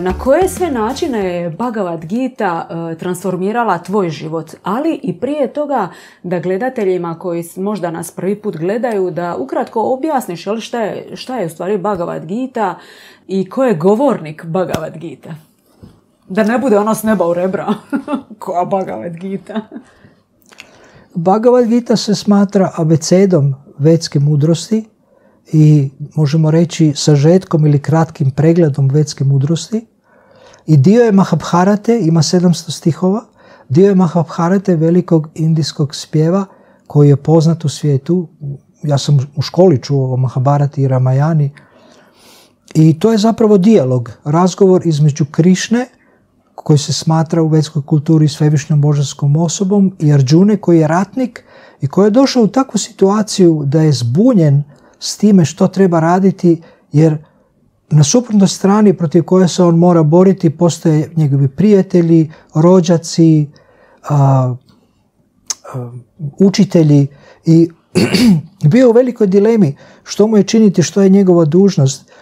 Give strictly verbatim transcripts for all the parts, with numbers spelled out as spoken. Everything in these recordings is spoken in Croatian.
Na koje sve načine je Bhagavad Gita uh, transformirala tvoj život, ali i prije toga da gledateljima koji možda nas prvi put gledaju, da ukratko objasniš jel, šta, je, šta je u stvari Bhagavad Gita i ko je govornik Bhagavad Gita? Da ne bude ono s neba u rebra. Koja Bhagavad Gita? Bhagavad Gita se smatra abecedom vedske mudrosti i možemo reći sažetkom ili kratkim pregledom vedske mudrosti. I dio je Mahabharate, ima sedamsto stihova, dio je Mahabharate, velikog indijskog spjeva koji je poznat u svijetu. Ja sam u školi čuo o Mahabharati i Ramayani. I to je zapravo dijalog, razgovor između Krišne, koji se smatra u vedskoj kulturi svevišnjom božanskom osobom, i Arjune koji je ratnik i koji je došao u takvu situaciju da je zbunjen s time što treba raditi, jer na suprotnoj strani protiv koje se on mora boriti postoje njegovi prijatelji, rođaci, a, a, učitelji, i bio u velikoj dilemi što mu je činiti, što je njegova dužnost.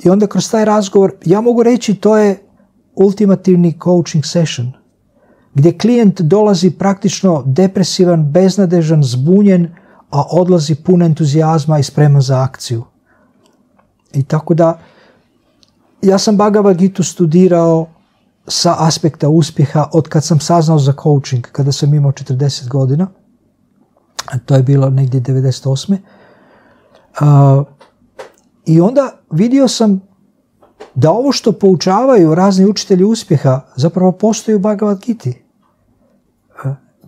I onda kroz taj razgovor, ja mogu reći, to je ultimativni coaching session, gdje klijent dolazi praktično depresivan, beznadežan, zbunjen, a odlazi pun entuzijazma i spreman za akciju. I tako da, ja sam Bhagavad Gitu studirao sa aspekta uspjeha od kad sam saznao za coaching, kada sam imao četrdeset godina, a to je bilo negdje devedeset osme. Uh, I onda vidio sam da ovo što poučavaju razni učitelji uspjeha zapravo postoji u Bhagavad Giti.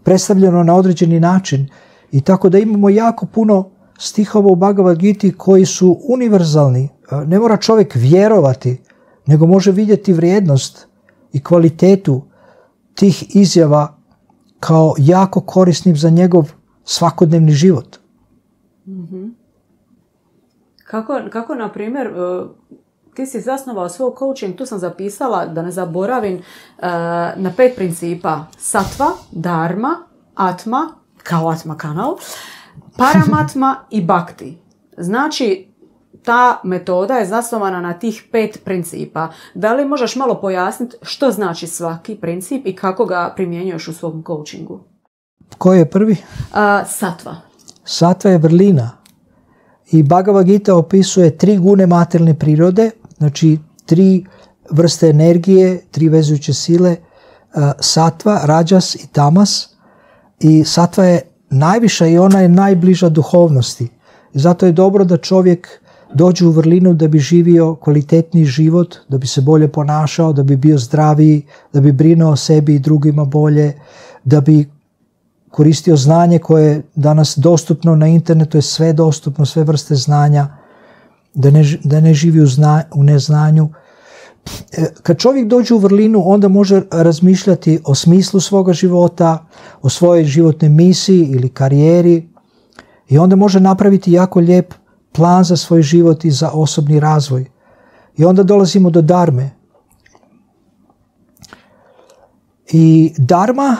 Predstavljeno na određeni način. I tako da imamo jako puno stihova u Bhagavad Giti koji su univerzalni. Ne mora čovjek vjerovati, nego može vidjeti vrijednost i kvalitetu tih izjava kao jako korisnim za njegov svakodnevni život. Mm-hmm. Kako, kako, na primjer, ti si zasnovao svoj coaching, tu sam zapisala, da ne zaboravim, na pet principa. Sattva, dharma, atma, kao atma kanal, paramatma i bhakti. Znači, ta metoda je zasnovana na tih pet principa. Da li možeš malo pojasniti što znači svaki princip i kako ga primjenjuješ u svom coachingu? Koji je prvi? Uh, sattva. Sattva je vrlina. I Bhagavad Gita opisuje tri gune materijalne prirode, znači tri vrste energije, tri vezujuće sile, uh, sattva, rajas i tamas. I sattva je najviša i ona je najbliža duhovnosti. I zato je dobro da čovjek dođe u vrlinu da bi živio kvalitetniji život, da bi se bolje ponašao, da bi bio zdraviji, da bi brinuo o sebi i drugima bolje, da bi koristio znanje koje je danas dostupno na internetu, je sve dostupno, sve vrste znanja, da ne, da ne živi u, zna, u neznanju. Kad čovjek dođe u vrlinu, onda može razmišljati o smislu svoga života, o svojoj životnoj misiji ili karijeri, i onda može napraviti jako lijep plan za svoj život i za osobni razvoj. I onda dolazimo do dharme. I dharma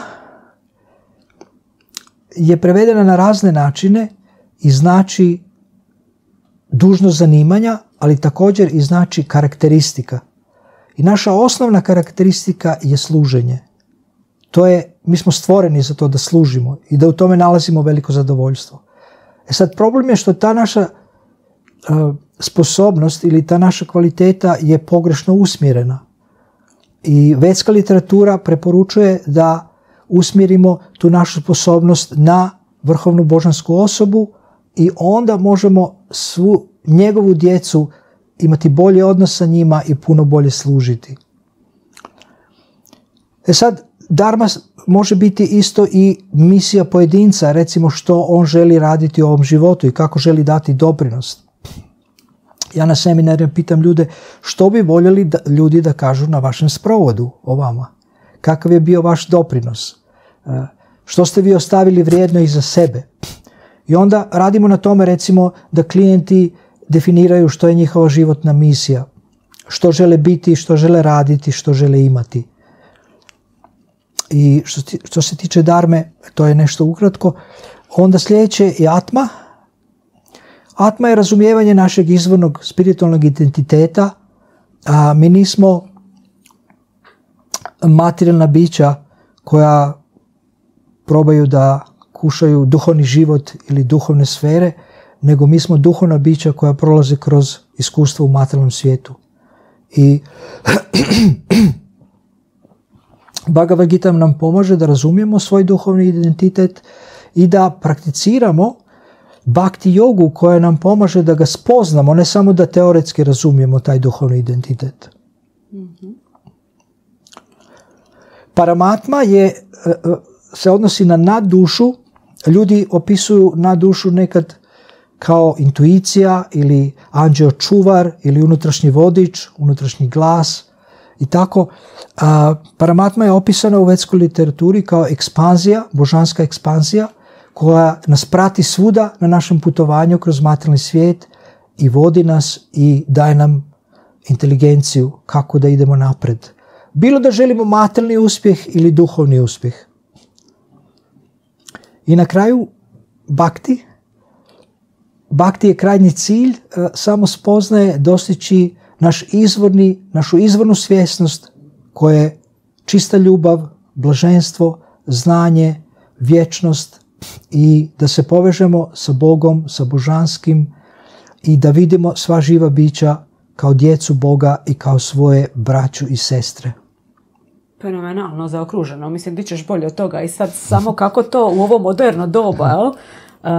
je prevedena na razne načine i znači dužnost zanimanja, ali također i znači karakteristika. I naša osnovna karakteristika je služenje. To je, mi smo stvoreni za to da služimo i da u tome nalazimo veliko zadovoljstvo. E sad, problem je što ta naša uh, sposobnost ili ta naša kvaliteta je pogrešno usmjerena. I vedska literatura preporučuje da usmjerimo tu našu sposobnost na vrhovnu božansku osobu i onda možemo svu njegovu djecu imati bolji odnos sa njima i puno bolje služiti. E sad, dharma može biti isto i misija pojedinca, recimo što on želi raditi u ovom životu i kako želi dati doprinos. Ja na seminarima pitam ljude što bi voljeli da, ljudi da kažu na vašem sprovodu o vama. Kakav je bio vaš doprinos? Što ste vi ostavili vrijedno iza sebe? I onda radimo na tome, recimo, da klijenti definiraju što je njihova životna misija, što žele biti, što žele raditi, što žele imati. I što, što se tiče dharme, to je nešto ukratko. Onda sljedeće je atma. Atma je razumijevanje našeg izvornog spiritualnog identiteta. A mi nismo materijalna bića koja probaju da kušaju duhovni život ili duhovne sfere, nego mi smo duhovna bića koja prolaze kroz iskustvo u materijalnom svijetu. I Bhagavad Gita nam pomaže da razumijemo svoj duhovni identitet i da prakticiramo bhakti jogu koja nam pomaže da ga spoznamo, ne samo da teoretski razumijemo taj duhovni identitet. Mm-hmm. Paramatma je, se odnosi na naddušu. Ljudi opisuju naddušu nekad kao intuicija ili anđeo čuvar ili unutrašnji vodič, unutrašnji glas i tako. A, Paramatma je opisana u vedskoj literaturi kao ekspanzija, božanska ekspanzija koja nas prati svuda na našem putovanju kroz materijalni svijet i vodi nas i daje nam inteligenciju kako da idemo napred. Bilo da želimo materijalni uspjeh ili duhovni uspjeh. I na kraju bhakti. Bhakti je krajnji cilj, samo spoznaje dostići naš izvorni, našu izvornu svjesnost koja je čista ljubav, blaženstvo, znanje, vječnost i da se povežemo sa Bogom, sa božanskim i da vidimo sva živa bića kao djecu Boga i kao svoje braću i sestre. Fenomenalno zaokruženo. Mislim, ti ćeš bolje od toga. I sad samo kako to u ovo moderno doba, jel? Uh,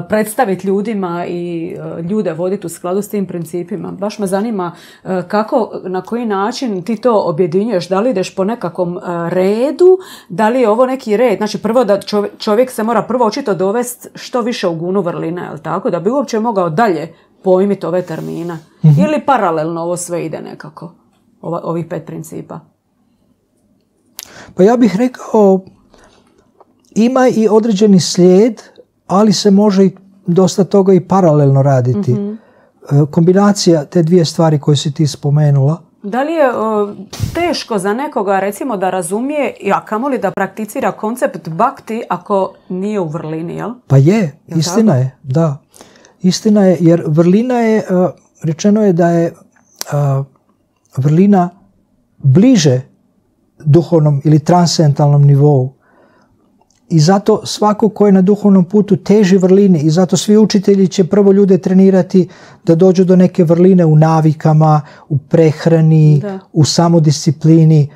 predstaviti ljudima i uh, ljude voditi u skladu s tim principima. Baš me zanima uh, kako, na koji način ti to objedinjuješ. Da li ideš po nekakvom uh, redu, da li je ovo neki red. Znači prvo da čovjek, čovjek se mora prvo očito dovesti što više u gunu vrline, jel tako? Da bi uopće mogao dalje pojmiti ove termine. Mm-hmm. Ili paralelno ovo sve ide nekako. Ova, ovih pet principa. Pa ja bih rekao, ima i određeni slijed, ali se može dosta toga i paralelno raditi. Mm-hmm. Kombinacija te dvije stvari koje si ti spomenula. Da li je o, teško za nekoga recimo da razumije, a kamoli da prakticira koncept bhakti ako nije u vrlini, jel? Pa je, jel istina tako? Je, da. Istina je, jer vrlina je, rečeno je da je vrlina bliže duhovnom ili transcendentalnom nivou. I zato svako ko je na duhovnom putu teži vrlini i zato svi učitelji će prvo ljude trenirati da dođu do neke vrline u navikama, u prehrani, da. U samodisciplini.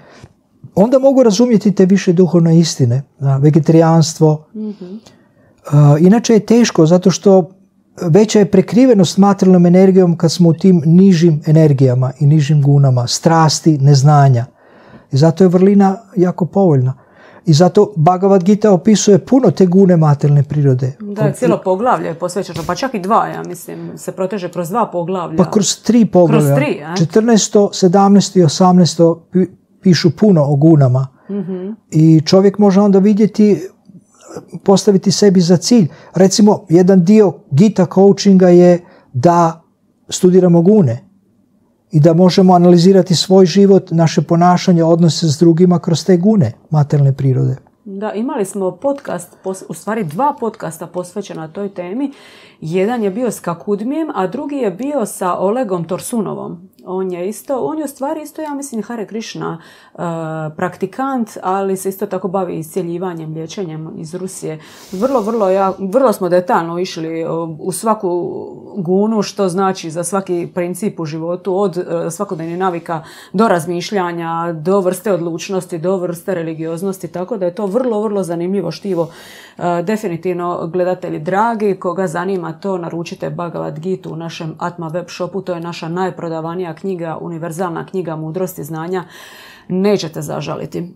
Onda mogu razumjeti te više duhovne istine, da, vegetarijanstvo. Mm-hmm. Uh, inače je teško zato što veća je prekrivenost materijalnom energijom kad smo u tim nižim energijama i nižim gunama, strasti, neznanja. I zato je vrlina jako povoljna. I zato Bhagavad Gita opisuje puno te gune materijalne prirode. Da, cijelo poglavlje je posvećeno, pa čak i dva, ja mislim, se proteže kroz dva poglavlja. Pa kroz tri poglavlja. Kroz tri, a? četrnaesto, sedamnaesto i osamnaesto pišu puno o gunama. Mm-hmm. I čovjek može onda vidjeti, postaviti sebi za cilj. Recimo, jedan dio Gita coachinga je da studiramo gune. I da možemo analizirati svoj život, naše ponašanje, odnose s drugima kroz te gune materijalne prirode. Da, imali smo podcast, u stvari dva podcasta posvećena toj temi. Jedan je bio s Kakudmijem, a drugi je bio sa Olegom Torsunovom. On je isto, on je u stvari isto, ja mislim, Hare Krishna uh, praktikant, ali se isto tako bavi iscjeljivanjem, liječenjem iz Rusije. Vrlo, vrlo, ja, vrlo smo detaljno išli u svaku gunu, što znači za svaki princip u životu, od uh, svakodnevnih navika do razmišljanja, do vrste odlučnosti, do vrste religioznosti, tako da je to vrlo, vrlo zanimljivo štivo. Uh, definitivno, gledatelji dragi, koga zanima to, naručite Bhagavad Gitu u našem Atma web shopu, to je naša najprodavanija knjiga, univerzalna knjiga mudrosti znanja, nećete zažaliti.